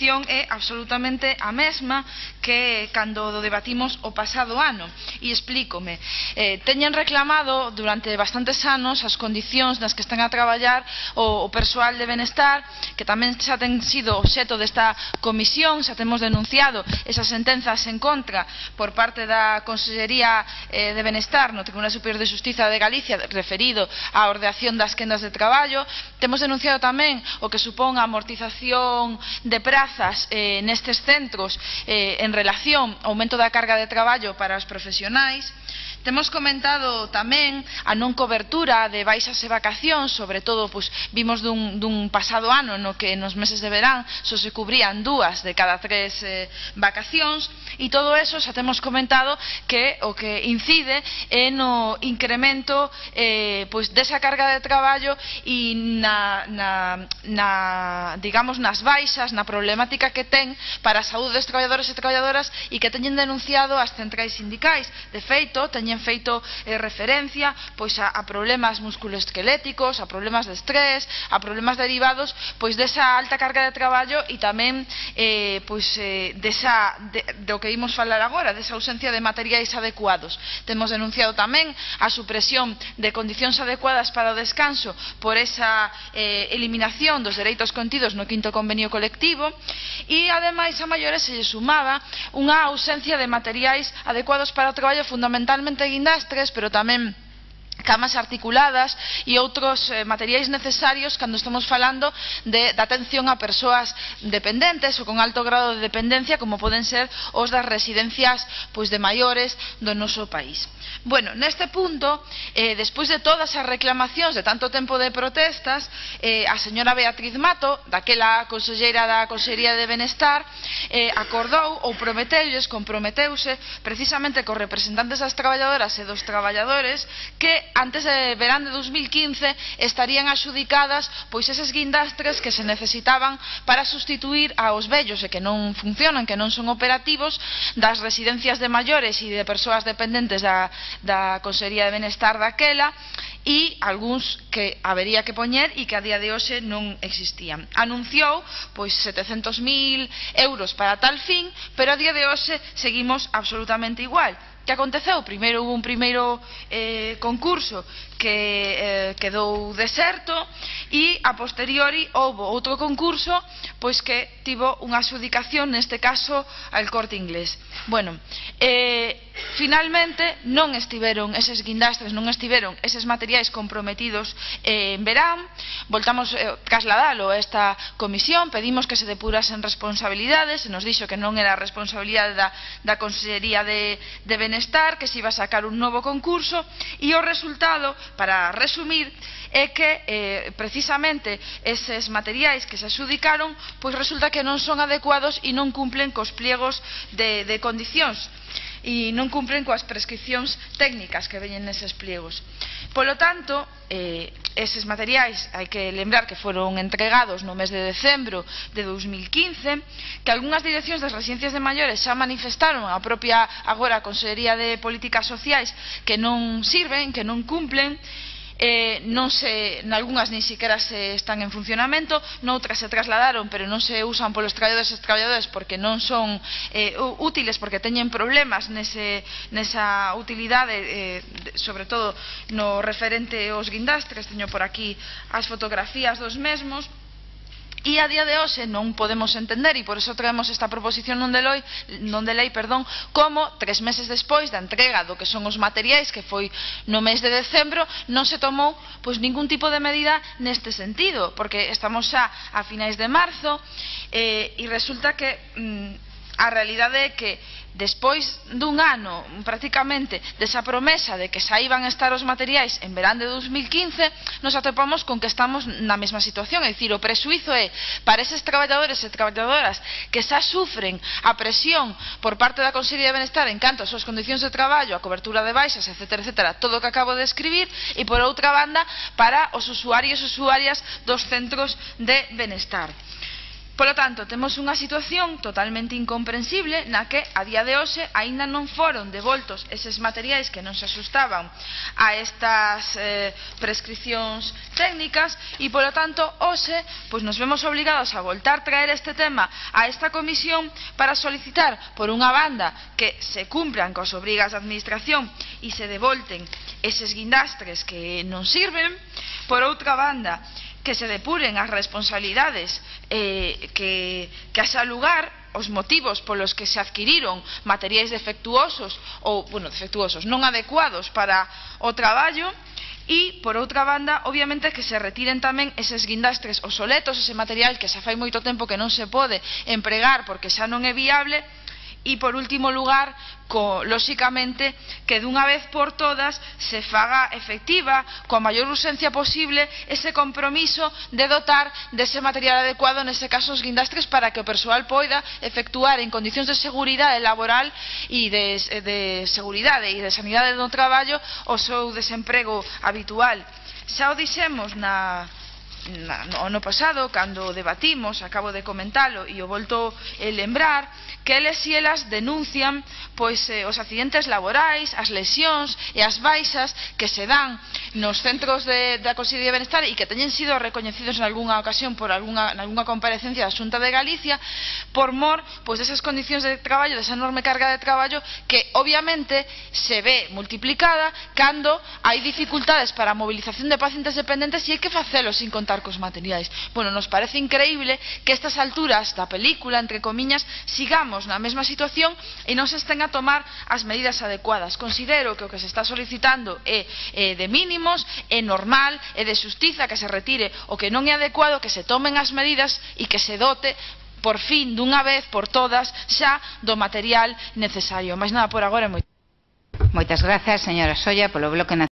situación é absolutamente a mesma que cando debatimos o pasado ano. E explícome. Teñen reclamado durante bastantes anos as condicións nas que están a traballar o persoal de benestar, que tamén xa ten sido obxeto desta comisión, xa temos denunciado esas sentenzas en contra por parte da Consellería de Benestar no Tribunal Superior de Xustiza de Galicia referido á ordeación das quendas de traballo. Temos denunciado tamén o que supón a amortización de prazas nestes centros en relación ao aumento da carga de traballo para os profesionais. Temos comentado tamén a non cobertura de baixas e vacacións, sobre todo vimos dun pasado ano no que nos meses de verán só se cubrían 2 de cada 3 vacacións, e todo eso xa temos comentado que o que incide é no incremento desa carga de traballo e digamos nas baixas, na problemática que ten para a saúde dos traballadores e traballadoras e que teñen denunciado as centrais sindicais. De feito, teñen feito referencia a problemas musculoesqueléticos, a problemas de estrés, a problemas derivados desa alta carga de traballo e tamén do que imos falar agora, desa ausencia de materiais adecuados. Temos denunciado tamén a supresión de condicións adecuadas para o descanso por esa eliminación dos dereitos contidos no 5º convenio colectivo, e ademais a maiores se lle sumaba unha ausencia de materiais adecuados para o traballo, fundamentalmente guindastres, pero tamén camas articuladas e outros materiais necesarios cando estamos falando de atención a persoas dependentes ou con alto grado de dependencia, como poden ser os das residencias de maiores do noso país. Bueno, neste punto, despois de todas as reclamacións de tanto tempo de protestas, a señora Beatriz Mato, daquela conselleira da Consellería de Benestar, acordou ou comprometeuse precisamente cos representantes das traballadoras e dos traballadores que antes de verán de 2015 estarían adxudicadas eses guindastres que se necesitaban para sustituir aos vellos e que non funcionan, que non son operativos, das residencias de maiores e de persoas dependentes da Consellería de Benestar daquela, e algúns que habería que poñer e que a día de hoxe non existían. Anunciou 700.000 euros para tal fin, pero a día de hoxe seguimos absolutamente igual. Que aconteceu? Primeiro hubo un primeiro concurso que quedou deserto e a posteriori houve outro concurso que tivo unha adxudicación, neste caso al Corte Inglés. Bueno, finalmente non estiveron eses guindastres, non estiveron eses materiais comprometidos en verán. Voltamos trasladalo a esta comisión, pedimos que se depurasen responsabilidades, se nos dixo que non era responsabilidade da Consellería de Benestar, que se iba a sacar un novo concurso, e o resultado, para resumir, é que precisamente eses materiais que se adxudicaron resulta que non son adecuados e non cumplen cos pliegos de condicións e non cumplen coas prescripcións técnicas que veñen neses pliegos. Polo tanto, eses materiais hai que lembrar que foron entregados no mes de decembro de 2015, que algunhas direccións das residencias de maiores xa manifestaron a propia agora Consellería de Políticas Sociais que non sirven, que non cumplen. Nalgunhas nin siquiera se están en funcionamento, noutras se trasladaron pero non se usan polos traballadores e traballadoras porque non son útiles, porque teñen problemas nesa utilidade, sobre todo no referente aos guindastres. Teño por aquí as fotografías dos mesmos. E a día de hoxe non podemos entender, e por eso traemos esta proposición non de lei, como 3 meses despois da entrega do que son os materiais, que foi no mes de decembro, non se tomou ningún tipo de medida neste sentido, porque estamos xa a finais de marzo e resulta que a realidade é que despois dun ano prácticamente desa promesa de que xa iban a estar os materiais en verán de 2015, nos atopamos con que estamos na mesma situación. É dicir, o prexuízo é para eses traballadores e traballadoras que xa sufren a presión por parte da Consellería de Benestar en canto ás súas condicións de traballo, a cobertura de baixas, etcétera, todo o que acabo de escribir, e por outra banda para os usuarios e usuarias dos centros de benestar. Polo tanto, temos unha situación totalmente incomprensible na que a día de hoxe aínda non foron devoltos eses materiais que non se axustaban a estas prescripcións técnicas e, polo tanto, hoxe pois nos vemos obligados a voltar traer este tema a esta comisión para solicitar, por unha banda, que se cumpran coas obrigas da administración e se devolten eses guindastres que non sirven, por outra banda, que se depuren as responsabilidades que haxa lugar os motivos polos que se adquiriron materiais defectuosos ou, defectuosos, non adecuados para o traballo e, por outra banda, obviamente que se retiren tamén eses guindastres obsoletos, ese material que xa fai moito tempo que non se pode empregar porque xa non é viable. E, por último lugar, lóxicamente, que dunha vez por todas se faga efectiva, coa maior urxencia posible, ese compromiso de dotar dese material adecuado, nese caso os guindastres, para que o persoal poida efectuar en condicións de seguridade laboral e de seguridade e de sanidade do traballo o seu desemprego habitual. Xa o dixemos no ano pasado, cando debatimos, acabo de comentalo e o volto a lembrar, que eles e elas denuncian os accidentes laborais, as lesións e as baixas que se dan nos centros da Consellería de Benestar e que teñen sido recoñecidos en algunha ocasión por algunha comparecencia da Xunta de Galicia por mor desas condicións de traballo, desa enorme carga de traballo que obviamente se ve multiplicada cando hai dificultades para a movilización de pacientes dependentes e hai que facelo sin contar cos materiais. Nos parece increíble que a estas alturas da película, entre comiñas, sigamos na mesma situación e non se estén a tomar as medidas adecuadas. Considero que o que se está solicitando é de mínimos, é normal, é de xustiza que se retire o que non é adecuado, que se tomen as medidas e que se dote por fin, dunha vez por todas, xa do material necesario. Mais nada por agora. Moitas grazas, señora Solla, polo Bloque Nacional.